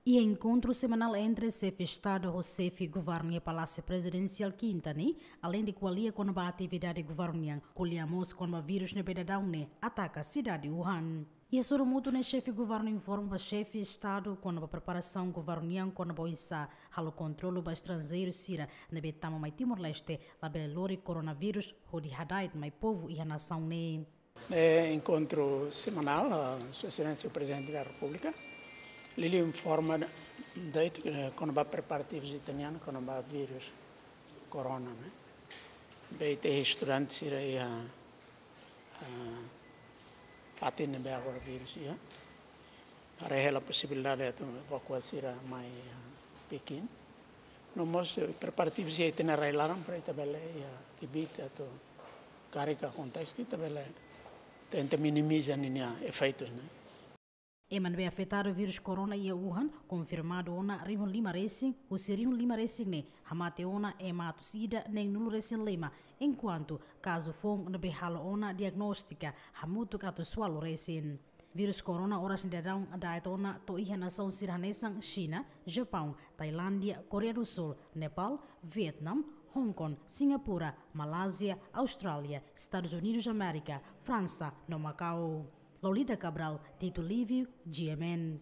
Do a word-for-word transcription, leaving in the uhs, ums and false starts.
Iha enkontru semanál entre xefe Estadu ho xefe Governu iha Palásiu Prezidensiál Kinta ne'e, aleinde ko'alia kona-ba atividade Governu nian, ko'alia mós kona-ba vírus ne'ebé daudaun ne'e ataka sidade Wuhan. Iha sorumutu ne'e xefe Governu informa ba xefe Estadu kona-ba preparasaun Governu nian kona-ba oinsá halo kontrolu ba estranjeiru sira ne'ebé tama mai Timor-Leste, labele lori koronavírus hodi hada'et mai povu iha nasaun ne'e. Ne'e enkontru semanál, ah, Sua Exelénsia Prezidente da Repúblika, liuliu informa de'it, eh, kona-ba preparativus ita-nian kona-ba vírus korona, ne'e. Ne'ebé ita estudante sira iha, ah, fatin ne'ebé agora vírus iha. Haree hela posibilidade atu evakua sira mai, ah, Pekin. No mós, eh, preparativus iha ita-nia rai-laran para ita bele iha kbiit atu karik akontese, ita bele tenta minimiza ninia efeitus, ne'e. Ema ne'ebé afetadu vírus korona iha Wuhan konfirmadu ona rihun lima resin, husi rihun lima resin ne'e hamate ona ema atus ida neen-nulu resin lima, enkuantu kazu foun ne'ebé halo ona diagnóstika hamutuk atus ualu resin. Vírus korona oras ne'e daudaun da'et ona to'o iha nasaun sira hanesan Xina, Japaun, Tailándia, Koreia do Sul, Nepal, Vietnam, Hong Kong, Singapura, Malázia, Austrália, Estadus Unidus Amérika, Fransa no Makau. Lolita Cabral, Tito Lívio, G M N.